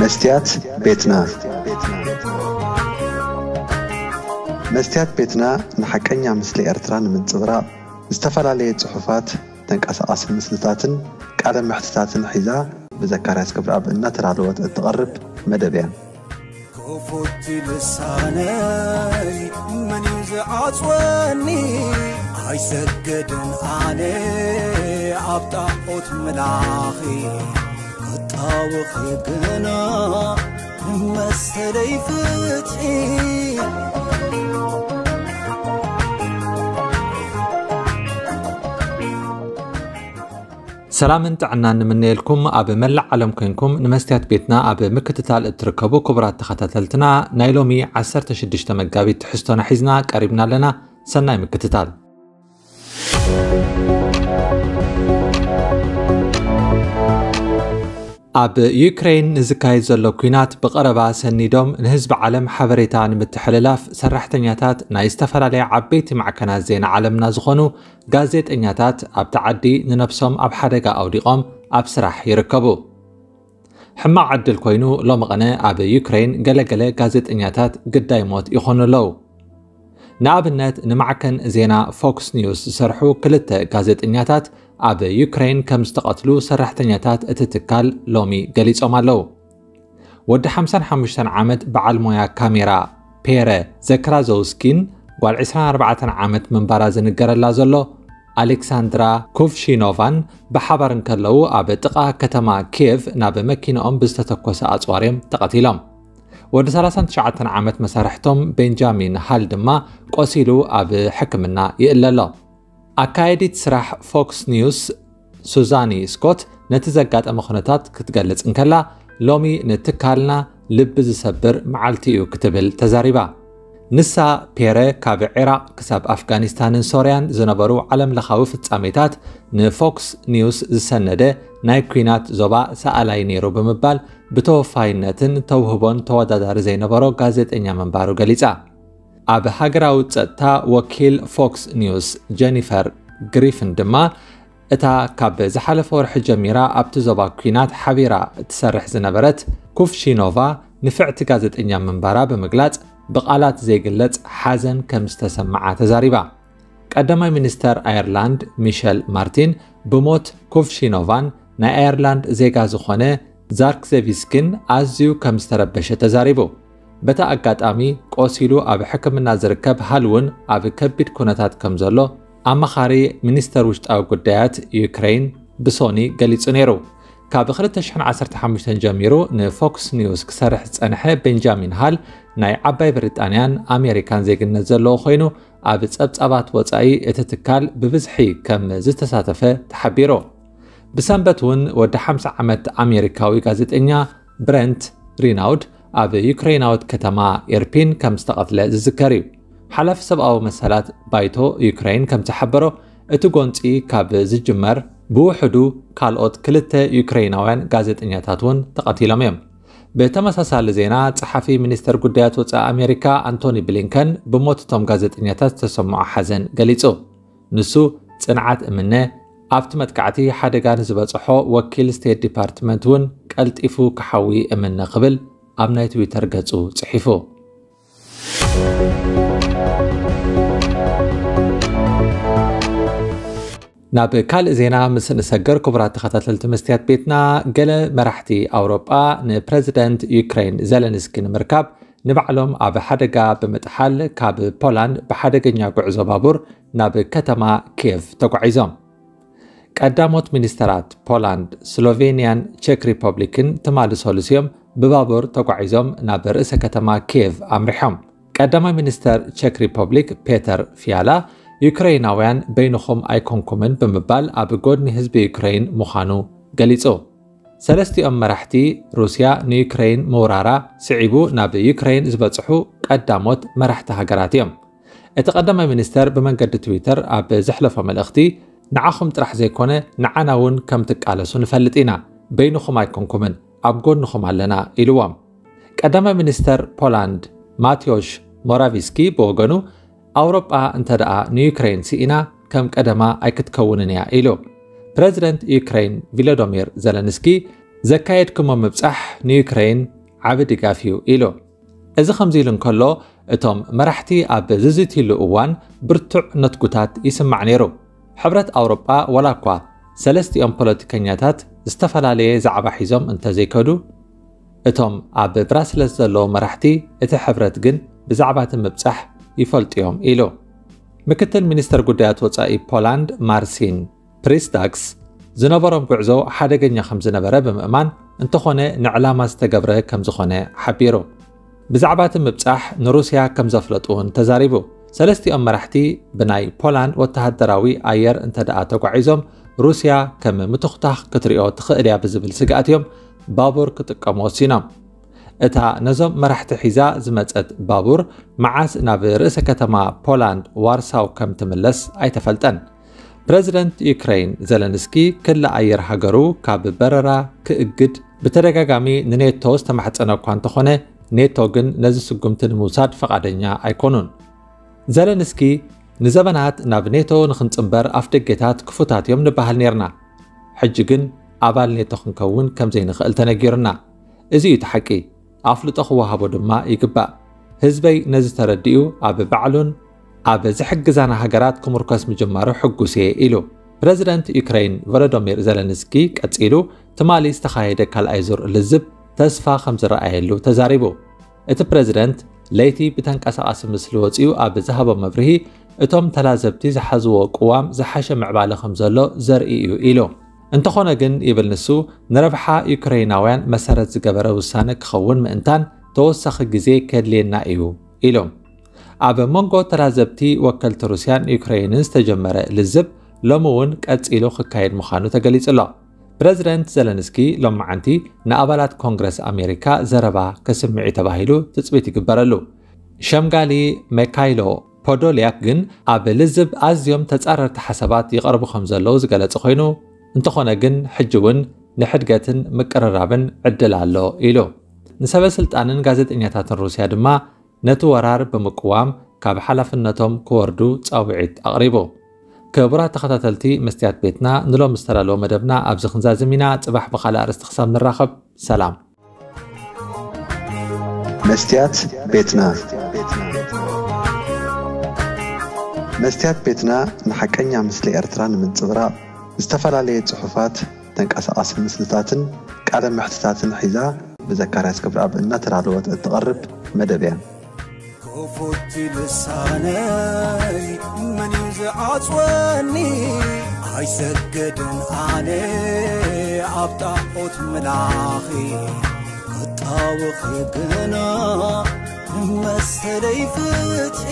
መስትያት ቤትና። መስትያት ቤትና ንሓቀኛ ምስሊ ኤርትራ ንምንጽብራቕ ዝተፈላለየ ጽሑፋት፣ ተንቀሳቓሲ ምስልታትን ቃለ መሕትታትን ሒዛ ብዘካርያስ ገብረኣብ እናተዳለወት እትቐርብ መደብ እያ። ክፉት ልሳነይ መን እዩ ዝዓጽወኒ? ኣይሰግድን ኣነ ኣብ ጣዖት ምላኺ፣ ክጣወኺ ግና መሰለይ ፍትሒ። ሰላምን ጥዕናን ንምነየልኩም። ኣብ መላእ ዓለም ኮንኩም ንመስትያት ቤትና ኣብ ምክትታል እትርከቡ ክቡራት ተኸታተልትና፣ ናይ ሎሚ ዓሰርተ ሽዱሽተ መጋቢት ትሕዝቶና ሒዝና ቀሪብና ኣለና። ሰናይ ምክትታል። ኣብ ዩክሬን ንዝካየድ ዘሎ ኲናት ብቐረባ ሰኒዶም ንህዝቢ ዓለም ሓበሬታ ንምትሕልላፍ ሰራሕተኛታት ናይ ዝተፈላለያ ዓበይቲ ማዕከናት ዜና ዓለምና ዝኾኑ ጋዜጠኛታት ኣብቲ ዓዲ ንነብሶም ኣብ ሓደጋ ኣውዲቖም ኣብ ስራሕ ይርከቡ። ሕማቕ ዕድል ኮይኑ ሎሚ ቐነ ኣብ ዩክሬን ገለገለ ጋዜጠኛታት ግዳይ ሞት ይኾኑ ኣለዉ። ንኣብነት ንማዕከን ዜና ፎክስ ኒውስ ዝሰርሑ ክልተ ጋዜጠኛታት ኣብ ዩክሬን ከም ዝተቐትሉ ሰራሕተኛታት እቲ ትካል ሎሚ ገሊጾም ኣለዉ። ወዲ ሓምሳን ሓሙሽተን ዓመት በዓል ሞያ ካሜራ ፔረ ዘክራዞውስኪን ጓል ዕስራን ኣርባዕተን ዓመት ምንባራ ዝንገረላ ዘሎ ኣሌክሳንድራ ኩፍሺኖቫን ብሓባር እንከለዉ ኣብ ጥቓ ከተማ ኪየቭ ናብ መኪንኦም ብዝተተኮሰ ኣጽዋር እዮም ተቐቲሎም። ወዲ ሰላሳን ትሽዓተን ዓመት መሳርሕቶም ቤንጃሚን ሃል ድማ ቆሲሉ ኣብ ሕክምና ይእለ ኣሎ። ኣካየዲት ስራሕ ፎክስ ኒውስ ሱዛኒ ስኮት ነቲ ዘጋጠመ ኩነታት ክትገልጽ እንከላ፣ ሎሚ ንትካልና ልቢ ዝሰብር መዓልቲ እዩ ክትብል ተዛሪባ። ንሳ ፔረ ካብ ዒራቕ ክሳብ ኣፍጋኒስታንን ሶርያን ዝነበሩ ዓለምለኻዊ ፍጻሜታት ንፎክስ ኒውስ ዝሰነደ ናይ ኲናት ዞባ ሰኣላይ ነይሩ ብምባል ብተወፋይነትን ተውህቦን ተወዳዳሪ ዘይነበሮ ጋዜጠኛ ምንባሩ ገሊጻ። ኣብ ሃገራዊ ጸጥታ ወኪል ፎክስ ኒውስ ጀኒፈር ግሪፍን ድማ እታ ካብ ዝሓለፈ ወርሒ ጀሚራ ኣብቲ ዞባ ኲናት ሓቢራ እትሰርሕ ዝነበረት ኩፍሺኖቫ ንፍዕቲ ጋዜጠኛ ምንባራ ብምግላጽ ብቓላት ዘይግለጽ ሓዘን ከም ዝተሰምዓ ተዛሪባ። ቀዳማይ ሚኒስተር ኣየርላንድ ሚሸል ማርቲን ብሞት ኩፍሺኖቫን ናይ ኣየርላንድ ዜጋ ዝኾነ ዛርክዘቪስኪን ኣዝዩ ከም ዝተረበሸ ተዛሪቡ። በቲ ኣጋጣሚ ቆሲሉ ኣብ ሕክምና ዝርከብ ሃል እውን ኣብ ከቢድ ኩነታት ከም ዘሎ ኣማኻሪ ሚኒስተር ውሽጣዊ ጉዳያት ዩክሬን ብሶኒ ገሊጹ ነይሩ። ካብ ክልተ ሽሕን ዓሰርተ ሓሙሽተን ጀሚሩ ንፎክስ ኒውስ ክሰርሕ ዝጸንሐ ቤንጃሚን ሃል ናይ ዓባይ ብሪጣንያን ኣሜሪካን ዜግነት ዘለዎ ኮይኑ፣ ኣብ ጸብጻባት ወጻኢ እቲ ትካል ብብዝሒ ከም ዝተሳተፈ ተሓቢሩ። ብሰንበት እውን ወዲ ሓምሳ ዓመት ኣሜሪካዊ ጋዜጠኛ ብረንት ሪናውድ ኣብ ዩክሬናዊት ከተማ ኢርፒን ከም ዝተቐትለ ዝዝከር እዩ። ሓላፊ ሰብኣዊ መሰላት ባይቶ ዩክሬን ከም ዝሓበሮ፣ እቲ ጎንጺ ካብ ዝጅመር ብውሕዱ ካልኦት ክልተ ዩክሬናውያን ጋዜጠኛታት እውን ተቐቲሎም እዮም። ብተመሳሳሊ ዜና፣ ጸሓፊ ሚኒስተር ጉዳያት ወጻኢ ኣሜሪካ ኣንቶኒ ብሊንከን ብሞት እቶም ጋዜጠኛታት ዝተሰምዖ ሓዘን ገሊጹ። ንሱ ጽንዓት እምነ፣ ኣብቲ መጥቃዕቲ ሓደጋ ንዝበጽሖ ወኪል ስቴት ዲፓርትመንት እውን ቀልጢፉ ክሓዊ እምነ ክብል ኣብ ናይ ትዊተር ገጹ ጽሒፉ። ናብ ካልእ ዜና ምስ ንሰገር፣ ክቡራት ተኸታተልቲ መስትያት ቤትና፣ ገለ መራሕቲ ኣውሮጳ ንፕረዚደንት ዩክሬን ዘለንስኪ ንምርካብ ንባዕሎም ኣብ ሓደጋ ብምጥሓል ካብ ፖላንድ ብሓደገኛ ጉዕዞ ባቡር ናብ ከተማ ኪየቭ ተጓዒዞም። ቀዳሞት ሚኒስተራት ፖላንድ፣ ስሎቬንያን ቼክ ሪፐብሊክን ትማሊ ሰሉስ እዮም ብባቡር ተጓዒዞም ናብ ርእሰ ከተማ ኪየቭ ኣምሪሖም። ቀዳማይ ሚኒስተር ቼክ ሪፐብሊክ ፔተር ፊያላ፣ ዩክሬናውያን በይንኹም ኣይኮንኩምን ብምባል ኣብ ጎድኒ ህዝቢ ዩክሬን ምዃኑ ገሊጹ። ሰለስቲኦም መራሕቲ፣ ሩስያ ንዩክሬን ምውራራ ስዒቡ ናብ ዩክሬን ዝበጽሑ ቀዳሞት መራሕቲ ሃገራት እዮም። እቲ ቀዳማይ ሚኒስተር ብመንገዲ ትዊተር ኣብ ዘሕለፎ መልእኽቲ፣ ንዓኹም ጥራሕ ዘይኮነ ንዓና እውን ከም ትቃለሱ ንፈልጥ ኢና፣ በይንኹም ኣይኮንኩምን፣ ኣብ ጎንኹም ኣለና ኢልዎም። ቀዳማይ ሚኒስተር ፖላንድ ማቴዎሽ ሞራቪስኪ ብወገኑ፣ ኣውሮጳ እንተ ደኣ ንዩክሬን ስኢና ከም ቀደማ ኣይክትከውንን እያ ኢሉ። ፕረዚደንት ዩክሬን ቪሎዶሚር ዘለንስኪ ዘካየድኩሞ ምብጻሕ ንዩክሬን ዓቢ ድጋፍ እዩ ኢሉ። እዚ ከምዚ ኢሉ እንከሎ፣ እቶም መራሕቲ ኣብ ዝዝትይሉ እዋን ብርቱዕ ነትጉታት ይስማዕ ነይሩ። ሕብረት ኣውሮጳ፣ ዋላ እኳ ሰለስቲኦም ፖለቲከኛታት ዝተፈላለየ ዛዕባ ሒዞም እንተዘይከዱ፣ እቶም ኣብ ብራስለስ ዘለዉ መራሕቲ እቲ ሕብረት ግን ብዛዕባ እቲ ምብጻሕ ይፈልጡ እዮም ኢሉ። ምክትል ሚኒስተር ጉዳያት ወጻኢ ፖላንድ ማርሲን ፕሪስታክስ ዝነበሮም ጉዕዞ ሓደገኛ ከም ዝነበረ ብምእማን፣ እንተኾነ ንዕላማ ዝተገብረ ከም ዝኾነ ሓቢሩ። ብዛዕባ እቲ ምብጻሕ ንሩስያ ከም ዘፍለጡ እውን ተዛሪቡ። ሰለስቲኦም መራሕቲ ብናይ ፖላንድ ወተሃደራዊ ኣየር እንተ ደኣ ተጓዒዞም፣ ሩስያ ከም ምትኹታኽ ክትሪኦ ትኽእል እያ ብዝብል ስግኣት እዮም ባቡር ክጥቀሙ ወሲኖም። እታ ነዞም መራሕቲ ሒዛ ዝመጸት ባቡር መዓስ ናብ ርእሰ ከተማ ፖላንድ ዋርሳው ከም ትምለስ ኣይተፈልጠን። ፕረዚደንት ዩክሬን ዘለንስኪ ክሊ ኣየር ሃገሩ ካብ በረራ ክእግድ ብተደጋጋሚ ንኔቶ ዝተማሕጸነ እኳ እንተኾነ፣ ኔቶ ግን ነዚ ስጉምቲ ንምውሳድ ፈቓደኛ ኣይኮኑን። ዘለንስኪ ንዘበናት ናብ ኔቶ ንኽንጽንበር ኣፍደጌታት ክፉታት እዮም ንበሃል ኔርና። ሕጂ ግን ኣባል ኔቶ ክንከውን ከም ዘይንኽእል ተነጊሩና። እዚ እዩ እቲ ሓቂ። ኣፍልጦ ክወሃቦ ድማ ይግባእ። ህዝበይ ነዚ ተረዲኡ ኣብ ባዕሉን ኣብ ዝሕግዛና ሃገራት ክምርኮስ ምጅማሩ ሕጉስ እየ ኢሉ። ፕረዚደንት ዩክሬን ቮሎዶሚር ዘለንስኪ ቀጺሉ፣ ትማሊ ዝተኻየደ ካልኣይ ዙር ልዝብ ተስፋ ከም ዝረኣየሉ ተዛሪቡ። እቲ ፕረዚደንት ለይቲ ብተንቀሳቓሲ ምስሊ ወጺኡ ኣብ ዝሃቦ መብርሂ፣ እቶም ተላዘብቲ ዝሓዝዎ ቅዋም ዝሓሸ ምዕባለ ከም ዘሎ ዘርኢ እዩ ኢሉ። እንተኾነ ግን፣ ይብል ንሱ፣ ንረብሓ ዩክሬናውያን መሰረት ዝገበረ ውሳነ ክኸውን ምእንታን ተወሳኺ ግዜ ከድልየና እዩ ኢሉ። ኣብ መንጎ ተላዘብቲ ወከልቲ ሩስያን ዩክሬንን ዝተጀመረ ልዝብ ሎሚ እውን ቀጺሉ ክካየድ ምዃኑ ተገሊጹ ኣሎ። ፕረዚደንት ዘለንስኪ ሎማዓንቲ ንኣባላት ኮንግረስ ኣሜሪካ ዘረባ ከስምዕ እዩ ተባሂሉ ትጽቢት ይግበረሉ። ሸምጋሊ ሜካይሎ ፖዶልያክ ግን ኣብ ልዝብ ኣዝዮም ተጻረርቲ ሓሳባት ይቐርቡ ከም ዘለዉ ዝገለጸ ኮይኑ፣ እንተኾነ ግን ሕጂ እውን ንሕድገትን ምቅርራብን ዕድል ኣሎ ኢሉ። ንሰበ ስልጣንን ጋዜጠኛታትን ሩስያ ድማ ነቲ ወራር ብምቅዋም ካብ ሓላፍነቶም ክወርዱ ጻውዒት ኣቕሪቡ። ክቡራት ተኸታተልቲ መስትያት ቤትና፣ ንሎም ዝተዳለወ መደብና ኣብዚ ክንዛዝም ኢና። ጽባሕ ብኻልእ ኣርእስቲ ክሳብ ንራኸብ፣ ሰላም። መስትያት ቤትና። መስትያት ቤትና ንሓቀኛ ምስሊ ኤርትራ ንምንጽብራቕ ዝተፈላለየ ጽሑፋት፣ ተንቀሳቓሲ ምስልታትን ቃለ መሕትታትን ሒዛ ብዘካርያስ ክብረኣብ እናተዳለወት እትቐርብ መደብ እያ። ክፉት ልሳነይ መን እዩ ዝዓጽወኒ? ኣይሰግድን ኣነ ኣብ ጣዖት ምላኺ፣ ክጣወኺ ግና መሰለይ ፍትሒ።